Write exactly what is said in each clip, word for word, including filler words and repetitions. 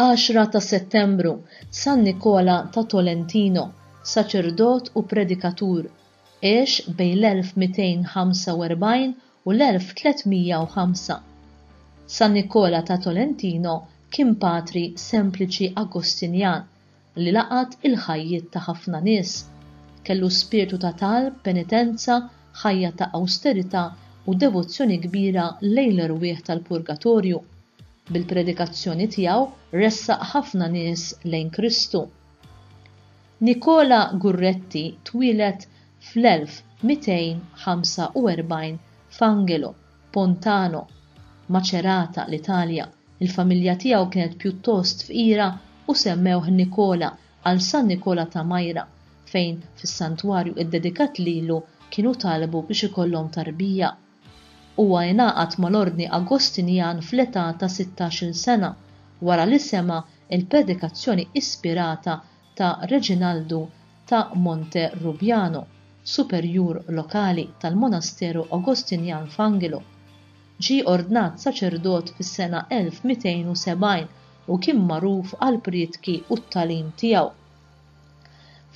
Għaxra ta' Settembru, San Nikola ta' Tolentino, saċerdot u predikatur, għex bejn l-elf mitejn ħamsa u erbgħin u l-elf tliet mija u ħamsa. San Nikola ta' Tolentino kien patri sempliċi Agostinjan li laqat il-ħajjiet ta' ħafna nies. Kellu spiritu ta' talb, penitenza, ħajja ta' austerità u devozzjoni kbira lejn l-erwieħ tal-purgatorju. Bil-predikazzjoni tiegħu ressaq ħafna nies lejn Kristu. Nikola Gurretti twieled fl-elf mitejn ħamsa u erbgħin f'Angelo, Pontano, Macerata, l-Italja. Il-familja tiegħu kienet pjuttost fqira u semmewh Nikola għal San Nikola ta' Majra, fejn fis-santwarju iddedikat lilu kienu talbu biex ikollhom tarbija. Huwa ingħaqad mal-Ordni Agostinjan fl-età ta' sittax-il sena wara li sema' il-predikazzjoni ispirata ta' Reginaldu ta' Monte Rubiano, superjur lokali tal-Monasteru Agostinjan f'Angelo. Ġie ordnat saċerdot fis-sena elf mitejn u sebgħin u kien magħruf għal prietki u t-tagħlim tiegħu.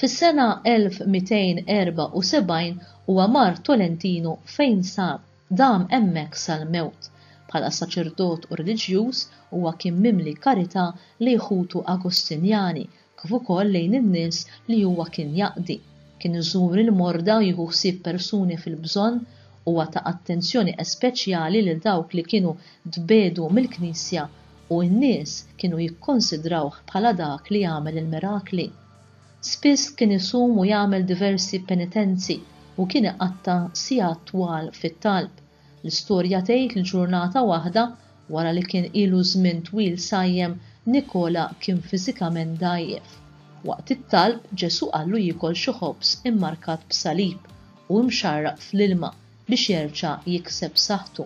Fis-sena elf mitejn erba' u sebgħin huwa mar Tolentino fejn sar dam hemmhekk sal-mewt. Bħala saċerdot u reliġjuż huwa kien mimli karità lejn ħutu Agostinjani kif ukoll lejn in-nies li huwa kien jaqdi. Kien iżur il-morda u jieħu ħsieb persuni fil-bżonn, huwa ta' attenzjoni speċjali lil dawk li kienu tbedu mill-Knisja u n-nies kienu jikkonsidrawh bħala dak li jagħmel il-mirakli. Spiss kien isum u jagħmel diversi penitenzi u kien iqatta' sigħat twal fit-talb. L-istorja tgħid li ġurnata waħda, wara li kien ilu żmien twil sajjem, Nikola kien fiżikament dgħajjef. Waqt it-talb Ġesu qallu jiekol xi ħobż immarkat b'salib u imxarraq fl-ilma biex jerġa' jikseb saħħtu.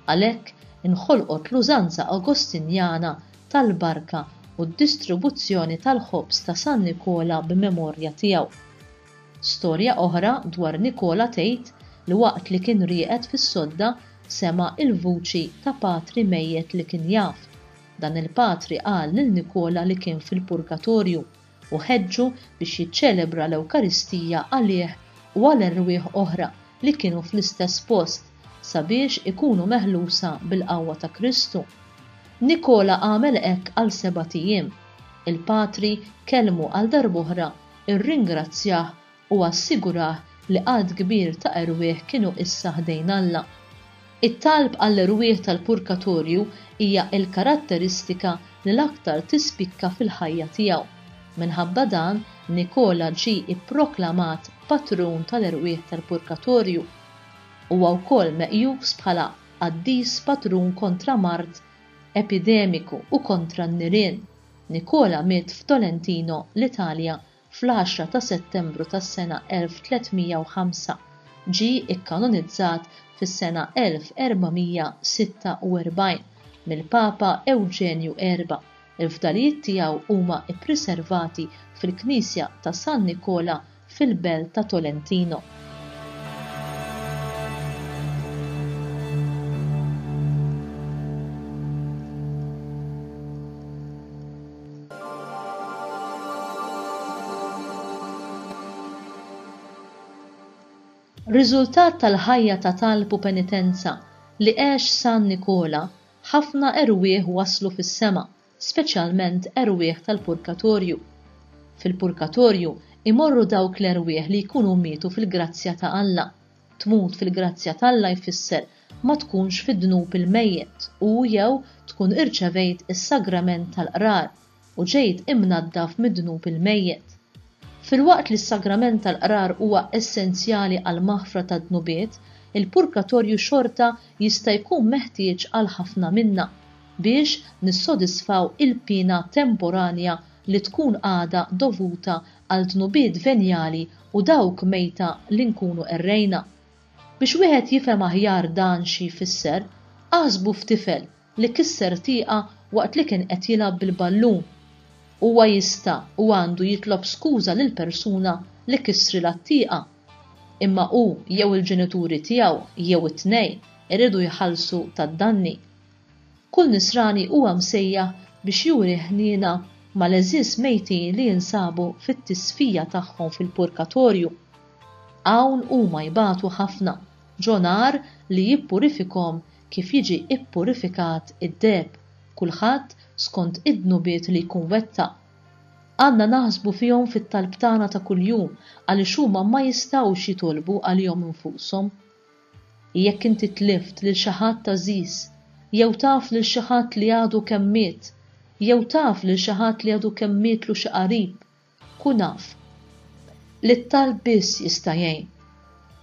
Għalhekk inħolqot l-użanza Agostinjana tal-barka u d-distribuzzjoni tal-ħobż ta' San Nikola b'memorja tiegħu. Storja oħra dwar Nikola tgħid li waqt li kien rieqed fis-sodda sema' il-vuċi ta' patri mejjet li kien jaf. Dan il-patri qal lil Nikola li kien fil-purgatorju u ħeġġu biex jiċċelebra l-Ewkaristija għalih u għal erwieħ oħra li kienu fl-istess post sabiex ikunu meħlusa bil-qawwa ta' Kristu. Nikola għamel hekk għal sebat ijiem. Il-patri kellmu għal darb'oħra, irringrazzjah u assigurah li għadd kbir ta' erwieħ kienu issa ħdejn Alla. It-talb għall-erwieħ tal-purgatorju hija l-karatteristika li l-aktar tispikka fil-ħajja tiegħu. Minħabba dan, Nikola ġie ipproklamat patrun tal-erwieħ tal-purgatorju. Huwa wkoll meqjus bħala qaddis patrun kontra mard epidemiku u kontra n-nirien. Nikola miet f'Tolentino, l-Italja, fl-għaxra ta' Settembru tas-sena elf tliet mija u ħamsa. Ġie ikkanonizzat fis-sena elf erba' mija sitta u erbgħin mill-Papa Ewġenju erba'. Il-fdalijiet tiegħu huma ippriservati fil-Knisja ta' San Nikola fil-Belt ta' Tolentino. Riżultat tal-ħajja ta' talb u penitenza li għex San Nikola, ħafna erwieħ waslu fis-sema, speċjalment erwieħ tal-purgatorju. Fil-purgatorju imorru dawk l-erwieħ li jkunu mietu fil-grazzja ta' Alla. Tmut fil-grazzja t'Alla jfisser ma tkunx fid-dnub il-mejjet u jew tkun irċevejt is-sagrament tal-qrar u ġejt imnaddaf mid-dnub il-mejjet. Filwaqt li s-sagrament tal-qrar huwa essenzjali għal maħfra tad-dnubiet, il-purgatorju xorta jista' jkun meħtieġ għal ħafna minna biex nissodisfaw il-pina temporanja li tkun għadha dovuta għal dnubiet venjali u dawk mejta li nkunu errejna. Biex wieħed jifhem aħjar dan xi jfisser, aħsbu f'tifel li kisser tieqa waqt li kien qed jilgħab bil-ballun. Huwa jista' u għandu jitlob skuża lil persuna li kissrilha t-tieqa. Imma hu jew il-ġenituri tiegħu jew it-tnejn iridu jħallsu tad-danni. Kull nisrani huwa msejjaħ biex juri ħniena mal-għeżież mejtin li jinsabu fit-tisfija tagħhom fil-purgatorju. Hawn huma jbatu ħafna, ġo nar li jippurifikhom kif jiġi ippurifikat id-deheb, kulħadd skont id-dnubiet li jkun wettaq. Għandna naħsbu fihom fit-talb tagħna ta' kuljum għaliex huma ma jistgħux jitolbu għalihom infushom. Jekk inti tlift lil xi ħadd għażiż, jew taf lil xi ħadd li għadu kemm miet, jew taf lil xi ħadd li għadu kemm mietlu xi qarib, kun af li t-talb biss jista' jgħin.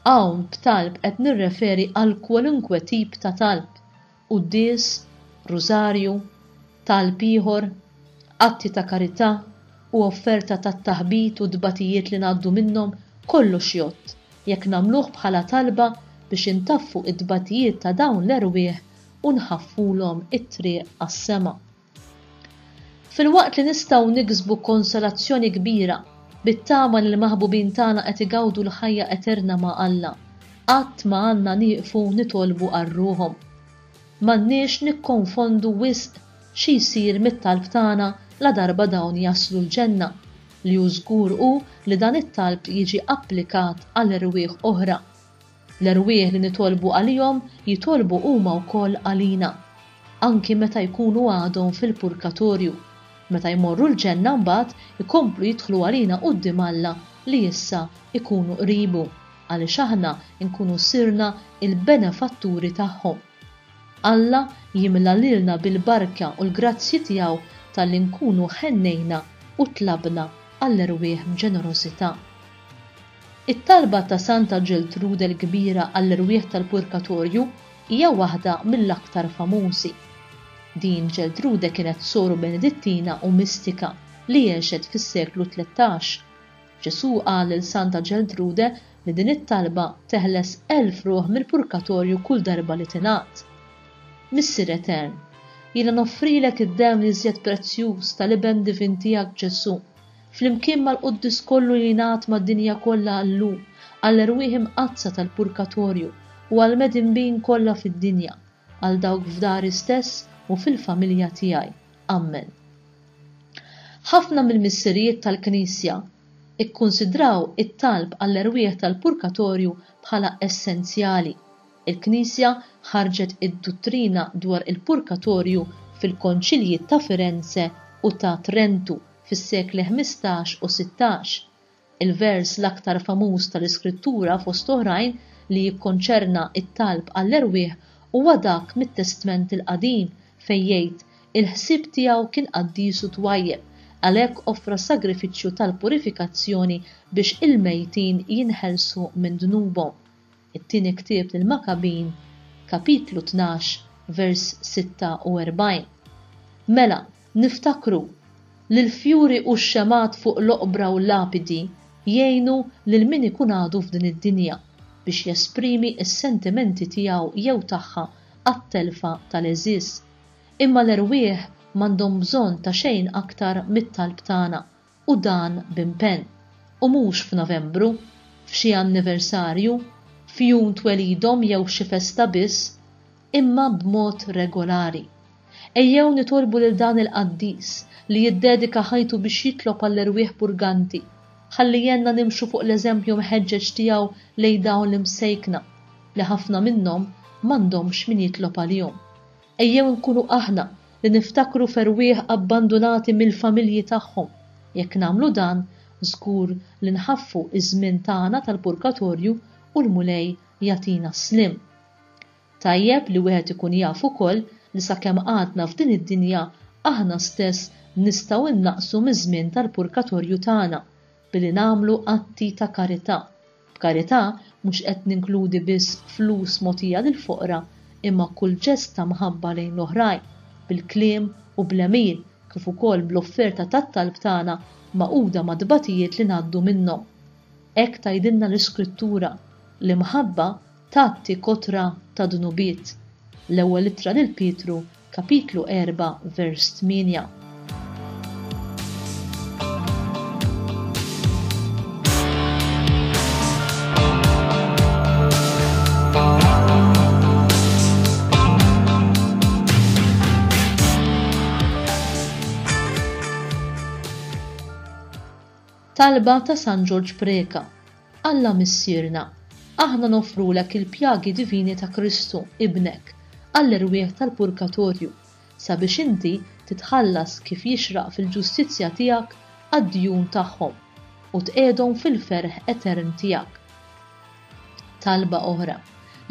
Hawn b'talb qed nirreferi għal kwalunkwe tip ta' talb, quddies, rużarju, talb ieħor, atti ta' karità u offerta tat-taħbit u t-tbatijiet li ngħaddu minnhom, kollox jgħodd jekk nagħmluh bħala talba biex intaffu t-tbatijiet ta' dawn l-erwieħ u nħaffulhom it-triq għas-sema. Filwaqt li nistgħu niksbu konsolazzjoni kbira bit-tama li l-maħbubin tagħna qed igawdu l-ħajja eterna ma' Alla, qatt ma għandna nieqfu nitolbu għal ruħhom. M'għandniex nikkonfondu wisq xi jsir mit-talb tagħna ladarba dawn jaslu l-ġenna, li hu żgur hu li dan it-talb jiġi applikat għal erwieħ oħra. L-erwieħ li nitolbu għalihom jitolbu huma wkoll għalina, anki meta jkunu għadhom fil-purgatorju. Meta jmorru l-ġenna mbagħad ikomplu jidħlu għalina quddiem Alla li issa ikunu qribu, għaliex aħna nkunu sirna il-benefatturi tagħhom. Alla jimla lilna bil-barka u l-grazzji tiegħu talli nkunu ħennejna u tlabna għall-erwieħ b'ġenerożità. It-talba ta' Santa Ġeltrude l-Kbira għall-erwieħ tal-purgatorju hija waħda mill-aktar famużi. Din Ġeltrude kienet soru Benedittina u mistika li għexet fis-seklu tlettax. Ġesù qal lil Santa Ġeltrude li din it-talba teħles elf ruħ mill-purgatorju kull darba li tingħad. Missier Etern, jiena noffrilek id-demm li iżjed prezzjuż tal-Iben divin tiegħek Ġesù, flimkien mal-Quddis kollu li jingħad mad-dinja kollha llum, għall-erwieħ imqaddsa tal-purgatorju u għall-medinbin kollha fid-dinja, għal dawk f'dari stess u fil-familja tiegħi. Amen. Ħafna mill-missirijiet tal-Knisja ikkunsidraw it-talb għall-erwieħ tal-purgatorju bħala essenzjali. Il-Knisja ħarġet id-duttrina dwar il-purgatorju fil-konċilji ta' Firenze u ta' Trentu fis-sekli ħmistax u sittax. Il-vers l-aktar famuż tal-Iskrittura fost oħrajn li jikkonċerna it-talb għall-erwieħ huwa dak mit-Testment il-Qadim fejn jgħid il-ħsieb tiegħu kien qaddis u twajjeb, għalhekk offra sagrifiċċju tal-purifikazzjoni biex il-mejtin jinħelsu minn dnubhom. It-tieni ktieb lil Makabin, kapitlu tnax, vers sitta u erbgħin. Mela, niftakru li l-fjuri u x-xemat fuq l-oqbra u l-lapidi jgħinu lil min ikun għadu f'din id-dinja biex jesprimi s-sentimenti tiegħu jew tagħha għat-telfa tal-għeżież. Imma l-erwieħ m'għandhom bżonn ta' xejn aktar mit-talb tagħna, u dan b'impenn. U mhux f'Novembru, f'xi anniversarju, f'jum twelidhom jew xi festa biss, imma b'mod regolari. Ejjew nitolbu lil dan il-qaddis li jiddedika ħajtu biex jitlob għall-erwieħ purganti, ħalli jenna nimxu fuq l-eżempju mħeġġeġ tiegħu lejn dawn l-imsejkna li ħafna minnhom m'għandhomx min jitlob għalihom. Ejjew nkunu aħna li niftakru f'erwieħ abbandunati mill-familji tagħhom. Jekk nagħmlu dan, żgur li nħaffu iż-żmien tagħna tal-purgatorju u l-Mulej jagħtina s-slim. Tajjeb li wieħed ikun jaf ukoll li sakemm għadna f'din id-dinja aħna stess nistgħu innaqsu miż-żmien tal-purgatorju tagħna billi nagħmlu atti ta' karità. B'karità mhux qed ninkludi biss flus mogħtija lill-foqra, imma kull ġest ta' mħabba lejn l-oħrajn, bil-kliem u bl-għemil, kif ukoll bl-offerta tat-talb tagħna magħquda ma' tbatijiet li ngħaddu minnhom. Hekk tgħidilna l-Iskrittura, l-imħabba tgħatti kotra ta' dnubiet. L-ewwel ittra lil Pietru, kapitlu erba', vers tmienja. Talba ta' San Ġorġ Preca. Alla Missierna, aħna noffrulek il-pjagi divini ta' Kristu, Ibnek, għall-erwieħ tal-purgatorju, sabiex inti titħallas kif jixraq fil-ġustizzja tiegħek għad-djun tagħhom u tqiegħdhom fil-ferħ etern tiegħek. Talba oħra.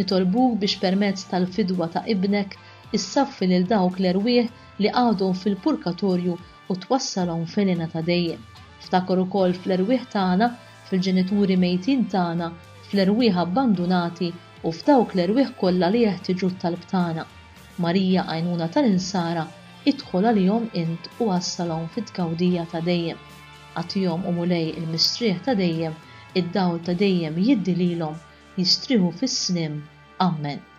Nitolbuk biex permezz tal-fidwa ta' Ibnek issaffi lil dawk l-erwieħ li għadhom fil-purgatorju u twassalhom fil-hena ta' dejjem. Ftakar ukoll fl-erwieħ tagħna, fil-ġenituri mejtin tagħna, fl-erwieħ abbandunati u f'dawk l-erwieħ kollha li jeħtieġu t-talb tagħna. Marija għajnuna tal-insara, idħol għalihom int u wassalhom fit-tgawdija ta' dejjem. Agħtihom o Mulej il-mistrieħ ta' dejjem, id-dawl ta' dejjem jiddi lilhom, jistrieħu fis-sliem. Amen.